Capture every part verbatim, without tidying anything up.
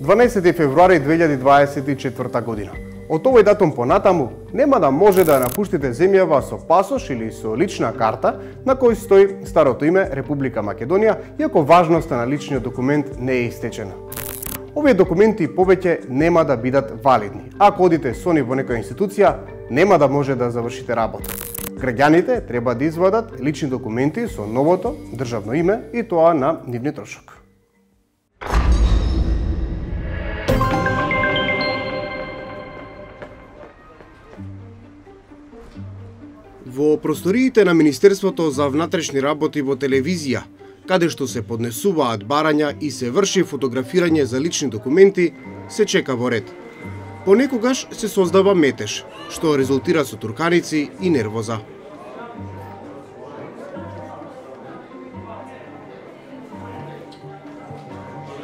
дванаесети февруари две илјади дваесет и четврта година. Од овој датум понатаму нема да може да напуштите земјава со пасош или со лична карта на кој стои старото име Република Македонија, иако важноста на личниот документ не е истечена. Овие документи повеќе нема да бидат валидни. Ако одите со нив во некоја институција, нема да може да завршите работа. Граѓаните треба да извадат лични документи со новото државно име и тоа на нивни трошок. Во просториите на Министерството за внатрешни работи во телевизија, каде што се поднесуваат барања и се врши фотографирање за лични документи, се чека во ред. Понекогаш се создава метеж, што резултира со турканици и нервоза.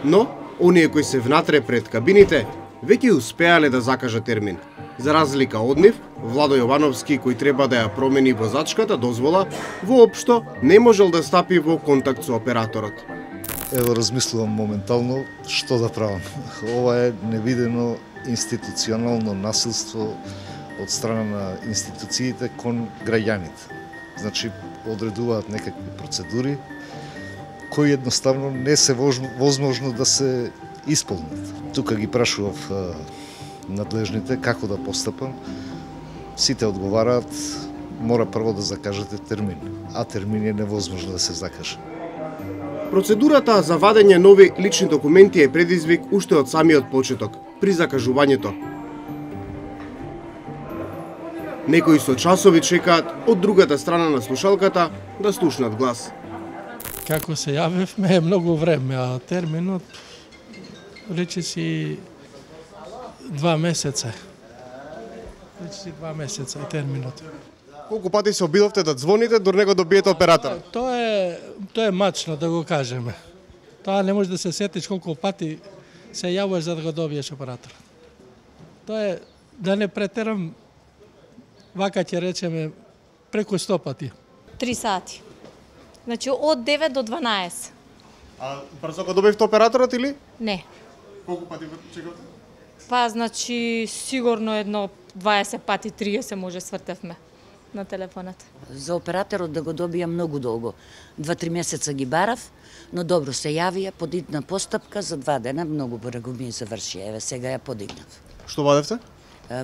Но, оние кои се внатре пред кабините, веќе успеале да закажат термин. За разлика од нив, Владо Јовановски, кој треба да ја промени возачката дозвола, воопшто не можел да стапи во контакт со операторот. Ево, размислувам моментално што да правам. Ова е невидено институционално насилство од страна на институциите кон граѓаните. Значи, одредуваат некакви процедури кои едноставно не се возможно да се исполнат. Тука ги прашував надлежните како да постапам. Сите одговараат, мора прво да закажете термин, а термин е невозможно да се закаже. Процедурата за вадење нови лични документи е предизвик уште од самиот почеток, при закажувањето. Некои со часови чекаат од другата страна на слушалката да слушнат глас. Како се јавивме е многу време, а терминот рече си два месеца. Рече си два месеца е терминот. Колку пати се обидовте да звоните, дори не го добиете оператор? Тоа е, тоа е мачно, да го кажеме. Тоа не може да се сетиш колку пати се јавуваш за да го добиеш оператор. Тоа е, да не претерам, вака ќе речеме, преку сто пати. Три сати. Значи, од девет до дванаесет. А брзо го добивте операторот или? Не. Колку пати чекавте? Па, значи, сигурно едно дваесет пати, триесет може свртевме на телефонот. За операторот да го добија многу долго. Два-три месеца ги барав, но добро се јавија, подигна постапка, за два дена многу браго ми заврши. Еве, сега ја подигнав. Што вадевте?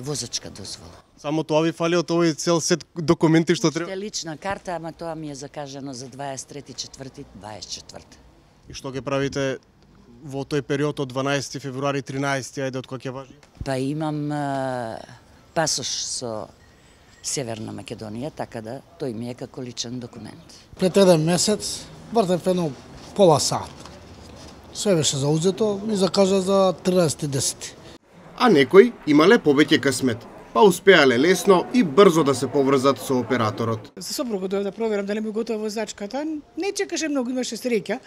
Возачка дозвола. Само тоа ви фали од овој цел сет документи што треба? Уште лична карта, ама тоа ми е закажано за дваесет и трети, четврти, дваесет и четврти. И што ќе правите во тој период од дванаесети февруари тринаесети, ајде од кога ќе важи? Па имам а, пасош со Северна Македонија, така да тој ми е како личен документ. Пред еден месец вртев едно пола сат. Све беше заузето и закажа за тринаесети десети. А некои имале повеќе късмет, па успеале лесно и брзо да се поврзат со операторот. За сопругот дојав да проверам дали ми готова возачката. Не чекаше многу, имаше среќа.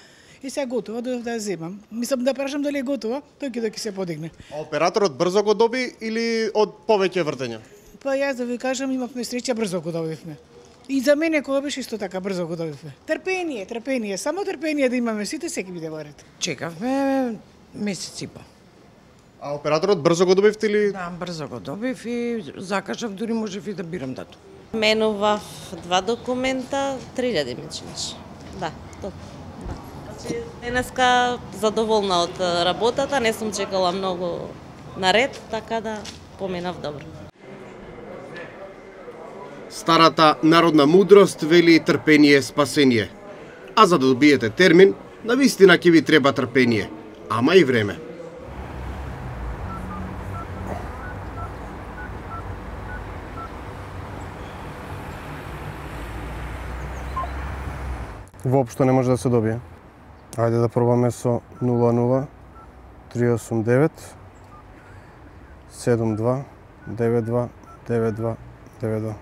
И сега готова, дојав да ја земам. Мислам да прашам дали е готова, тој ќе да ќе се подигне. А операторот брзо го доби или од повеќе вртења? Па јас да ви кажам, имавме среќа, брзо го добивме. И за мене кога беше исто така, брзо го добивме. Трпение, трпение, само трпение да имаме сите, секи биде во ред. Чекавме месец и по. А операторот брзо го добивте или? Да, брзо го добив и закажав, дури можев и да бирам датум. Менував два документа, три илјади ми чинеше. Да, тоа. Значи, денеска задоволна од работата, не сум чекала многу наред, така да поминав добро. Старата народна мудрост вели трпение спасение. А за да добиете термин, навистина ќе ви треба трпение, ама и време. Воопшто не може да се добие. Ајде да пробаме со нула нула три осум девет седум два девет два девет два девет два.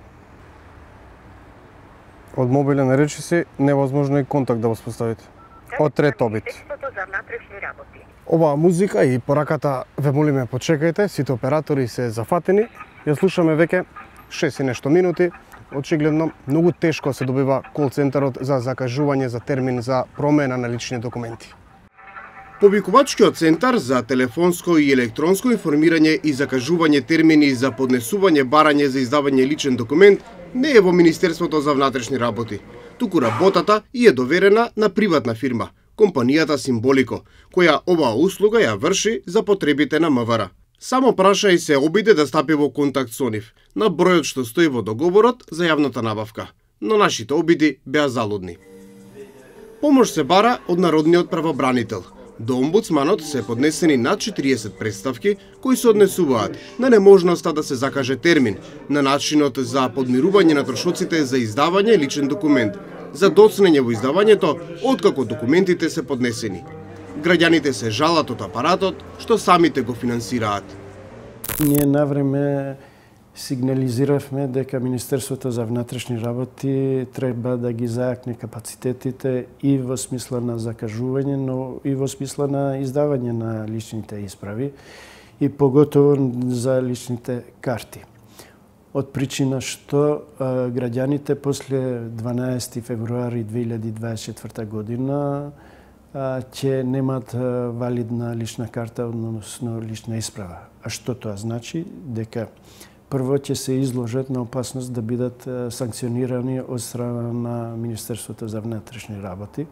Од мобилен речиси невозможно и контакт да воспоставите. Од трет обид. Оваа музика и пораката ве молиме почекајте, сите оператори се зафатени. Ја слушаме веќе шест и нешто минути. Очигледно, многу тешко се добива кол центарот за закажување за термин за промена на лични документи. Повикувачкиот центар за телефонско и електронско информирање и закажување термини за поднесување барање за издавање личен документ не е во Министерството за внатрешни работи, туку работата и е доверена на приватна фирма, компанијата Симболико, која оваа услуга ја врши за потребите на МВР. Само праша и се обиде да стапи во контакт со нив, на бројот што стои во договорот за јавната набавка, но нашите обиди беа залудни. Помош се бара од Народниот правобранител. До омбудсманот се поднесени над четириесет представки кои се однесуваат на неможноста да се закаже термин, на начинот за подмирување на трошоците за издавање личен документ, за доцнење во издавањето откако документите се поднесени. Граѓаните се жалат од апаратот што самите го финансираат. Ние навреме сигнализиравме дека Министерството за внатрешни работи треба да ги зајакне капацитетите и во смисла на закажување, но и во смисла на издавање на личните исправи и поготово за личните карти. Од причина што а, граѓаните после дванаесети февруари две илјади дваесет и четврта година ќе немат валидна лична карта, односно лична исправа. А што тоа значи? Дека прво ќе се изложат на опасност да бидат санкционирани од страна на Министерството за внатрешни работи.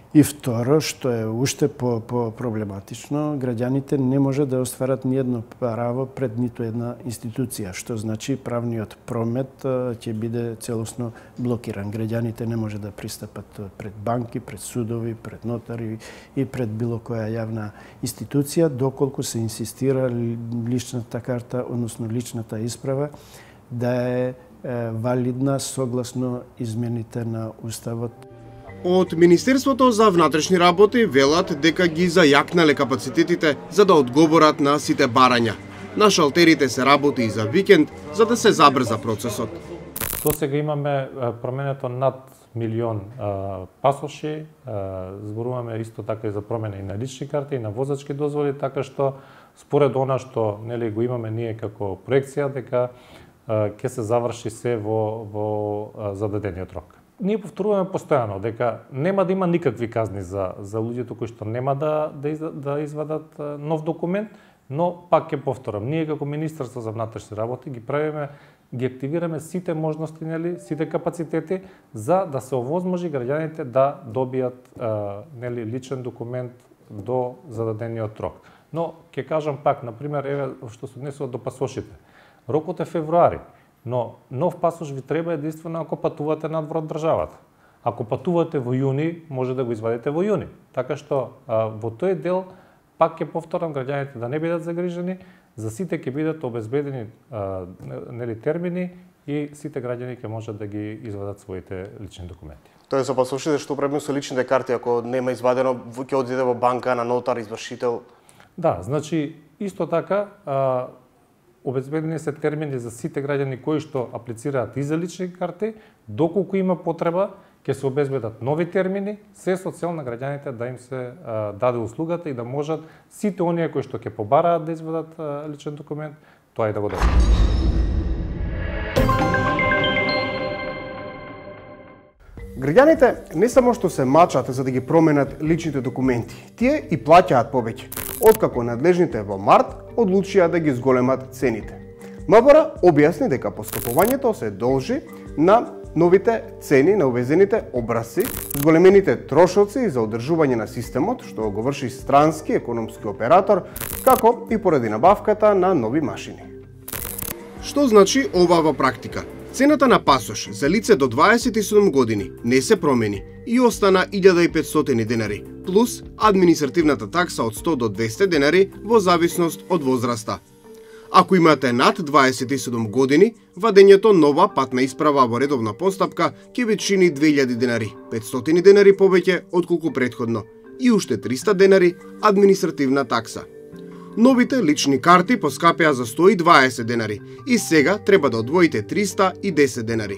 И второ, што е уште по, по проблематично, граѓаните не може да остварат ни едно право пред ниту една институција, што значи правниот промет ќе биде целосно блокиран. Граѓаните не може да пристапат пред банки, пред судови, пред нотари и пред било која јавна институција, доколку се инсистира личната карта, односно личната исправа, да е, е валидна согласно измените на Уставот. Од Министерството за внатрешни работи велат дека ги зајакнале капацитетите за да одговорат на сите барања. На шалтерите се работи и за викенд за да се забрза процесот. До сега имаме променето над милион пасоши, зборуваме исто така и за промена и на лични карти и на возачки дозволи, така што според она што нели го имаме ние како проекција дека ќе се заврши се во во зададениот рок. Ние повторуваме постојано дека нема да има никакви казни за за луѓето кои што нема да да, из, да извадат нов документ, но пак ќе повторам, ние како Министерство за внатрешни работи ги правиме, ги активираме сите можности, нели, сите капацитети за да се овозможи граѓаните да добијат нели личен документ до зададениот рок. Но ќе кажам пак, на пример, еве што се однесува до пасошите. Рокот е февруари. Но нов пасош ви треба единствено ако патувате надвор од државата. Ако патувате во јуни, може да го извадите во јуни. Така што а, во тој дел, пак ќе повторам, граѓаните да не бидат загрижени, за сите ќе бидат обезбедени а, нели термини и сите граѓани ќе можат да ги извадат своите лични документи. Тоа е за пасошите што правиме со личните карти, ако нема извадено, ќе одиде во банка на нотар, извршител. Да, значи исто така а, обезбедени се термини за сите граѓани кои што аплицираат и за лични карти, доколку има потреба, ќе се обезбедат нови термини, се со цел на граѓаните да им се а, даде услугата и да можат сите оние кои што ќе побараат да извадат а, личен документ, тоа и да го добијат. Граѓаните не само што се мачат за да ги променат личните документи, тие и плаќаат повеќе, откако надлежните во март одлучија да ги зголемат цените. МВР објасни дека поскапувањето се должи на новите цени на увезените образци, зголемените трошоци за одржување на системот, што го врши странски економски оператор, како и поради набавката на нови машини. Што значи ова во практика? Цената на пасош за лице до дваесет и седум години не се промени и остана илјада и петстотини денари, плюс административната такса од сто до двесте денари во зависност од возраста. Ако имате над дваесет и седум години, вадењето нова патна исправа во редовна постапка ќе ви чини две илјади денари, петстотини денари повеќе отколку претходно и уште триста денари административна такса. Новите лични карти поскапеа за сто и дваесет денари и сега треба да одвоите триста и десет денари.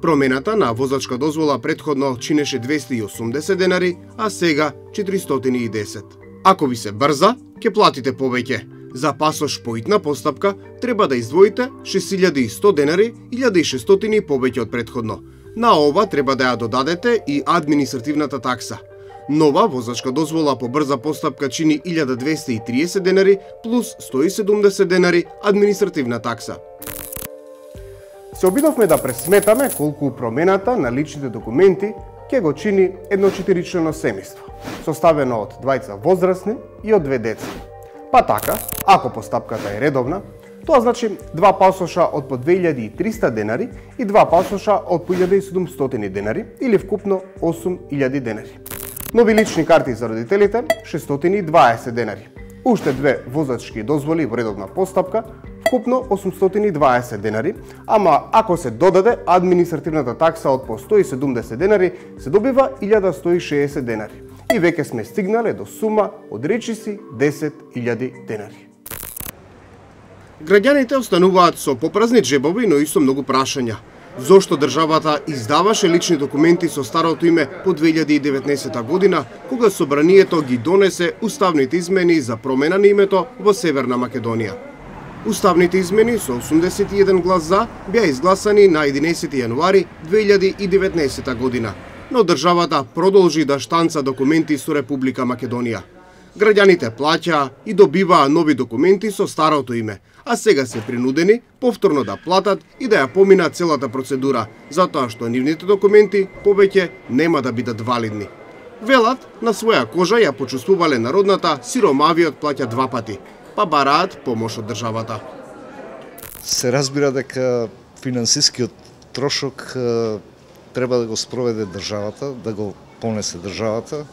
Промената на возачка дозвола претходно чинеше двесте и осумдесет денари, а сега четиристотини и десет. Ако ви се брза, ќе платите повеќе. За пасош по итна постапка треба да издвоите шест илјади и сто денари, илјада и шестстотини повеќе од претходно. На ова треба да ја додадете и административната такса. Нова возачка дозвола по брза постапка чини илјада двесте и триесет денари плюс сто и седумдесет денари административна такса. Се обидовме да пресметаме колку промената на личните документи ќе го чини едно четиричлено семејство, составено од двајца возрастни и од две деца. Па така, ако постапката е редовна, тоа значи два пасоша од по две илјади и триста денари и два пасоша од по илјада и седумстотини денари или вкупно осум илјади денари. Нови лични карти за родителите шестстотини и дваесет денари. Уште две возачки дозволи во редовна постапка вкупно осумстотини и дваесет денари, ама ако се додаде административната такса од по сто и седумдесет денари, се добива илјада сто и шеесет денари. И веќе сме стигнале до сума од речиси десет илјади денари. Граѓаните остануваат со попразни джебови, но и со многу прашања. Зошто државата издаваше лични документи со старото име по две илјади и деветнаесета година, кога собранието ги донесе уставните измени за промена на името во Северна Македонија? Уставните измени со осумдесет и еден глас за беа изгласани на единаесети јануари две илјади и деветнаесета година, но државата продолжи да штанца документи со Република Македонија. Граѓаните плаќаа и добиваа нови документи со старото име, а сега се принудени повторно да платат и да ја поминат целата процедура, затоа што нивните документи повеќе нема да бидат валидни. Велат, на своја кожа ја почувствувале народната сиромавиот плаќа два пати, па бараат помош од државата. Се разбира дека финансискиот трошок треба да го спроведе државата, да го понесе државата,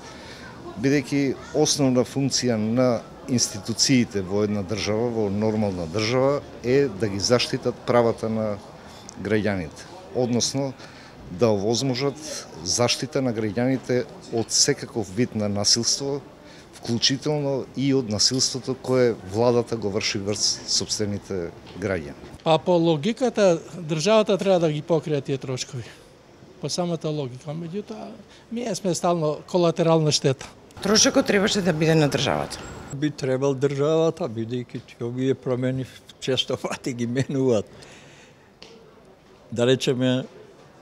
бидејќи основна функција на институциите во една држава, во нормална држава, е да ги заштитат правата на граѓаните, односно да овозможат заштита на граѓаните од секаков вид на насилство, вклучително и од насилството кое владата го врши врз сопствените граѓани. Па по логиката државата треба да ги покрие тие трошкови. По самата логика, меѓутоа ние сме стално колатерална штета. Трошокот требаше да биде на државата. Би требал државата, бидејќи овие промени често пати ги менуваат. Да речеме,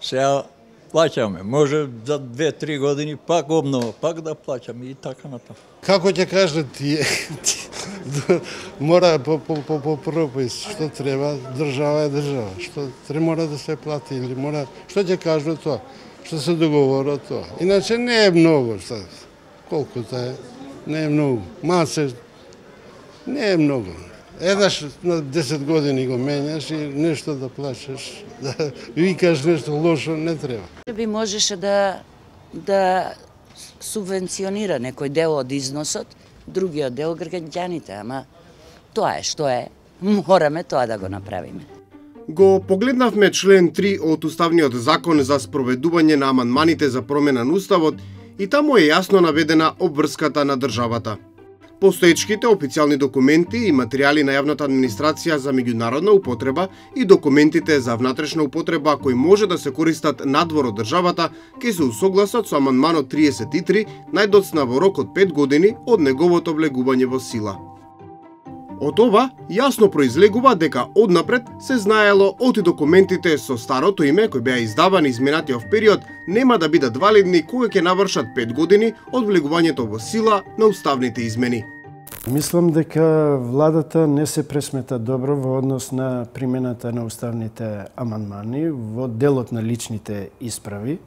сега плаќаме, може за две-три години пак обнова, пак да плаќаме и така натаму. Како ќе кажат тие? Мора по, по, по, по пропис, што треба, држава е држава, што треба мора да се плати или мора, што ќе кажат тоа, што се договора тоа. Иначе не е многу, што, колкото е, не е многу. Маце, не е многу. Еднаш на десет години го менјаш и нешто да плачеш, да викаш нешто лошо, не треба. Би можеше да, да субвенционира некој дел од износот, другиот дел граѓаните, ама тоа е што е, мораме тоа да го направиме. Го погледнавме член три од Уставниот закон за спроведување на амандманите за промена на Уставот и таму е јасно наведена обврската на државата. Постоечките официјални документи и материјали на јавната администрација за меѓународна употреба и документите за внатрешна употреба кои може да се користат надвор од државата ќе се усогласат со амандманот триесет и три најдоцна во рок од пет години од неговото влегување во сила. Од ова јасно произлегува дека однапред се знаело оти документите со старото име кои беа издавани изминатиот период нема да бидат валидни кога ќе навршат пет години од влегувањето во сила на уставните измени. Мислам дека владата не се пресмета добро во однос на примената на уставните амандмани во делот на личните исправи,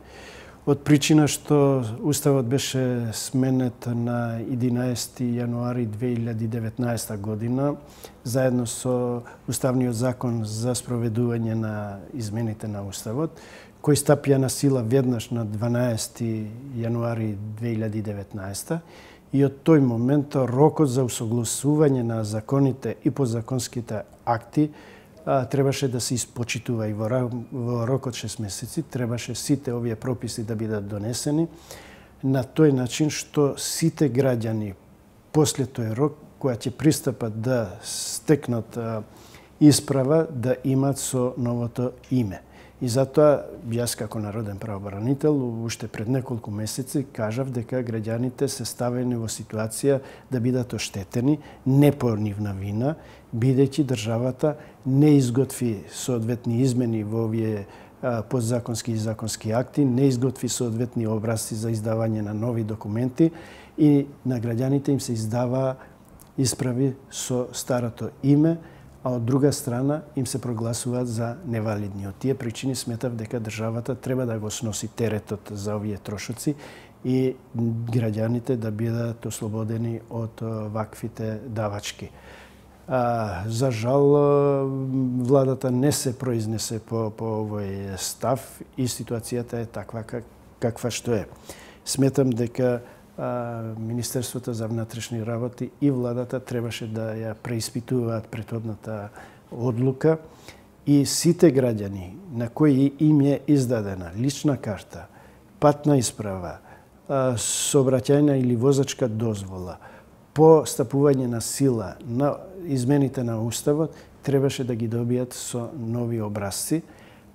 од причина што Уставот беше сменет на единаесети јануари две илјади и деветнаесета година, заедно со Уставниот закон за спроведување на измените на Уставот, кој стапија на сила веднаш на дванаесети јануари две илјади и деветнаесета и од тој момент рокот за усогласување на законите и подзаконските акти требаше да се испочитува и во рок од шест месеци требаше сите овие прописи да бидат донесени на тој начин што сите граѓани после тој рок која ќе пристапат да стекнат исправа да имат со новото име. И затоа јас како народен правобранител уште пред неколку месеци кажав дека граѓаните се ставени во ситуација да бидат оштетени не по нивна вина, бидејќи државата не изготви соодветни измени во овие подзаконски и законски акти, не изготви соодветни образци за издавање на нови документи и на граѓаните им се издава исправи со старото име, а од друга страна им се прогласуваат за невалидни. Од тие причини сметав дека државата треба да го сноси теретот за овие трошоци и граѓаните да бидат ослободени од ваквите давачки. А, за жал, владата не се произнесе по, по овој став и ситуацијата е таква как, каква што е. Сметам дека а, Министерството за внатрешни работи и владата требаше да ја преиспитуваат претhodната одлука и сите граѓани на кои им е издадена лична карта, патна исправа, сообраќајна или возачка дозвола, по стапување на сила на измените на Уставот, требаше да ги добијат со нови образци,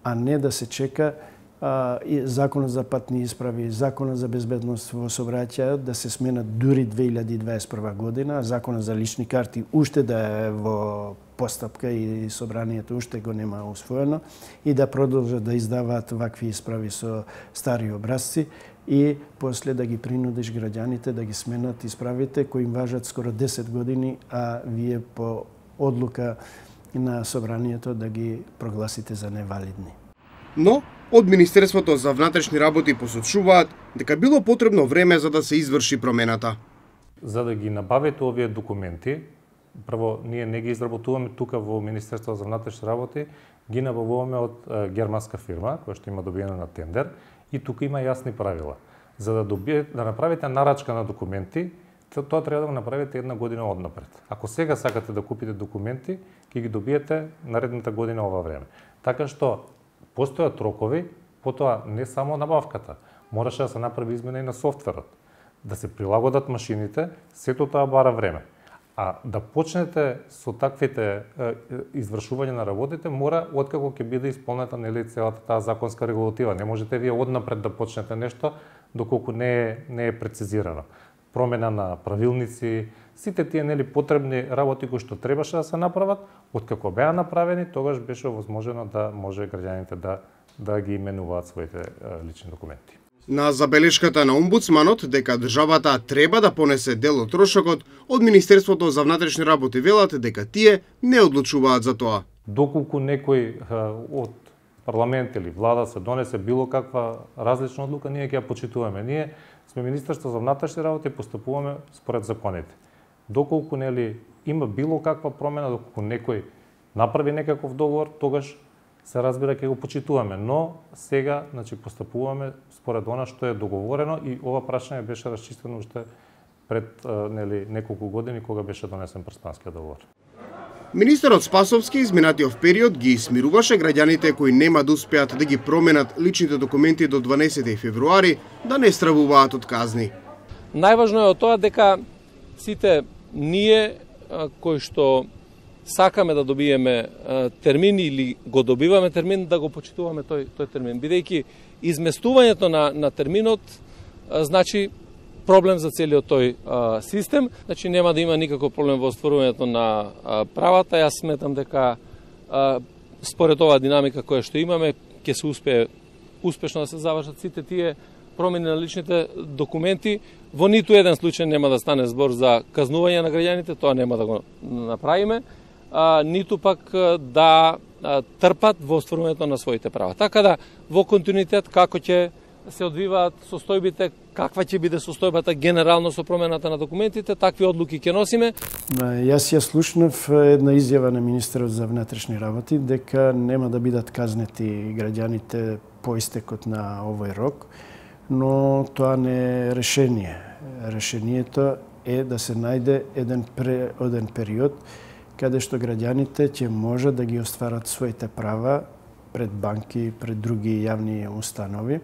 а не да се чека а, и Законот за патни исправи, Законот за безбедност во сообраќајот да се сменат дури две илјади дваесет и прва година, а Законот за лични карти уште да е во постапка и собранието уште го нема усвоено и да продолжат да издаваат вакви исправи со стари образци и после да ги принудиш граѓаните да ги сменат исправите кои им важат скоро десет години, а вие по одлука на собранието да ги прогласите за невалидни. Но, од Министерството за внатрешни работи посочуваат дека било потребно време за да се изврши промената. За да ги набавите овие документи, прво ние не ги изработуваме тука во Министерството за внатрешни работи, ги набавуваме од германска фирма која што има добиена на тендер и тука има јасни правила. За да добие, да направите нарачка на документи, тоа треба да го направите една година однапред. Ако сега сакате да купите документи, ќе ги добиете наредната година ова време. Така што постојат рокови, потоа не само набавката, мораше да се направи измена и на софтверот, да се прилагодат машините, сето тоа бара време. А да почнете со таквите е, извршување на работите, мора откако ќе биде исполнета нели целата таа законска регулатива. Не можете вие однапред да почнете нешто доколку не е не е прецизирано. Промена на правилници, сите тие нели потребни работи кои што требаше да се направат, откако беа направени, тогаш беше возможно да може граѓаните да да ги именуваат своите е, лични документи. На забелешката на омбудсманот дека државата треба да понесе дел од трошокот, од Министерството за внатрешни работи велат дека тие не одлучуваат за тоа. Доколку некој од парламент или влада се донесе било каква различна одлука, ние ќе ја почитуваме. Ние сме Министерство за внатрешни работи и постапуваме според законите. Доколку нели има било каква промена, доколку некој направи некаков договор, тогаш се разбира ќе го почитуваме, но сега значи постапуваме според она што е договорено и ова прашање беше расчистено уште пред нели неколку години кога беше донесен Преспанскиот договор. Министерот Спасовски изминатиот период ги смируваше граѓаните кои нема да успеат да ги променат личните документи до дванаесети февруари да не стравуваат од казни. Најважно е од тоа дека сите ние кои што сакаме да добиеме термин или го добиваме термин, да го почитуваме тој тој термин, бидејќи изместувањето на на терминот значи проблем за целиот тој а, систем, значи нема да има никаков проблем во остварувањето на а, правата. Јас сметам дека а, според оваа динамика која што имаме ќе се успее успешно да се завршат сите тие промени на личните документи. Во ниту еден случај нема да стане збор за казнување на граѓаните, тоа нема да го направиме. А, ниту пак да а, трпат во остварувањето на своите права. Така да, во континуитет, како ќе се одвиваат состојбите, каква ќе биде состојбата генерално со промената на документите, такви одлуки ќе носиме. Јас ја слушнав една изјава на министерот за внатрешни работи дека нема да бидат казнети граѓаните по истекот на овој рок, но тоа не е решение. Решението е да се најде еден преоден период каде што граѓаните ќе може да ги остварат своите права пред банки, пред други јавни установи,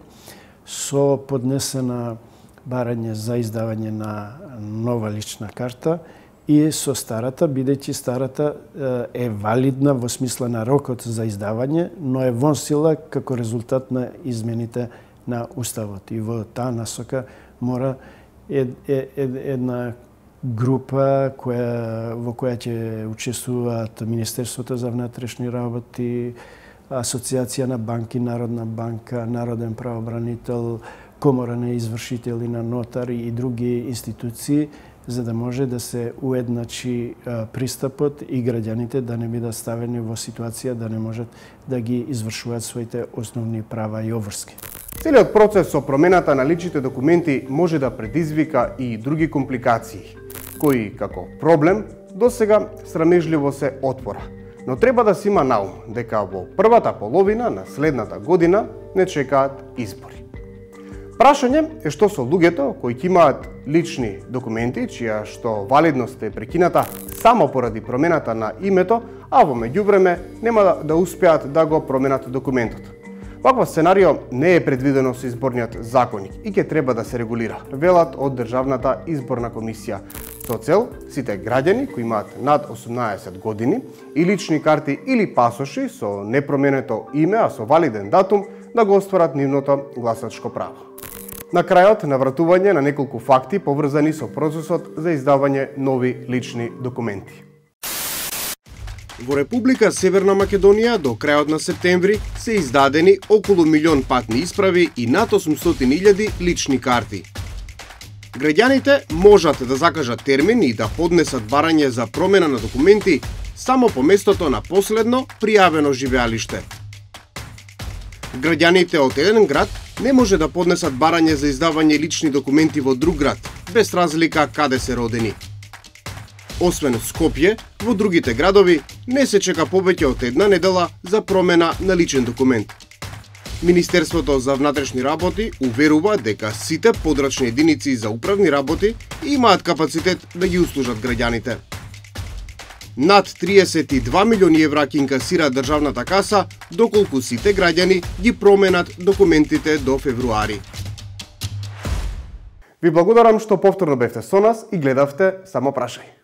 со поднесена барање за издавање на нова лична карта и со старата, бидејќи старата е валидна во смисла на рокот за издавање, но е вон сила како резултат на измените на Уставот. И во таа насока мора една група која, во која ќе учествуваат Министерството за внатрешни работи, Асоциација на банки, Народна банка, Народен правобранител, Комора на извршители, на нотари и други институции, за да може да се уедначи пристапот и граѓаните да не бидат ставени во ситуација да не можат да ги извршуваат своите основни права и обврски. Целиот процес со промената на личните документи може да предизвика и други компликации, кои како проблем досега срамежливо се отвора. Но треба да се има на ум дека во првата половина на следната година не чекаат избори. Прашање е што со луѓето кои ќе имаат лични документи, чија што валидност е прекината само поради промената на името, а во меѓувреме нема да, да успеат да го променат документот. Ваква сценарио не е предвидено со изборниот законник и ќе треба да се регулира, велат од Државната изборна комисија, со цел сите граѓани кои имаат над осумнаесет години и лични карти или пасоши со непроменето име, а со валиден датум, да го остварат нивното гласачко право. На крајот навратување на неколку факти поврзани со процесот за издавање нови лични документи. Во Република Северна Македонија до крајот на септември се издадени околу милион патни исправи и над осумстотини илјади лични карти. Граѓаните можат да закажат термин и да поднесат барање за промена на документи само по местото на последно пријавено живеалиште. Граѓаните од еден град не може да поднесат барање за издавање лични документи во друг град, без разлика каде се родени. Освен Скопје, во другите градови не се чека повеќе од една недела за промена на личен документ. Министерството за внатрешни работи уверува дека сите подрачни единици за управни работи имаат капацитет да ги услужат граѓаните. Над триесет и два милиони евра ќе инкасира државната каса, доколку сите граѓани ги променат документите до февруари. Ви благодарам што повторно бевте со нас и гледавте Само прашај.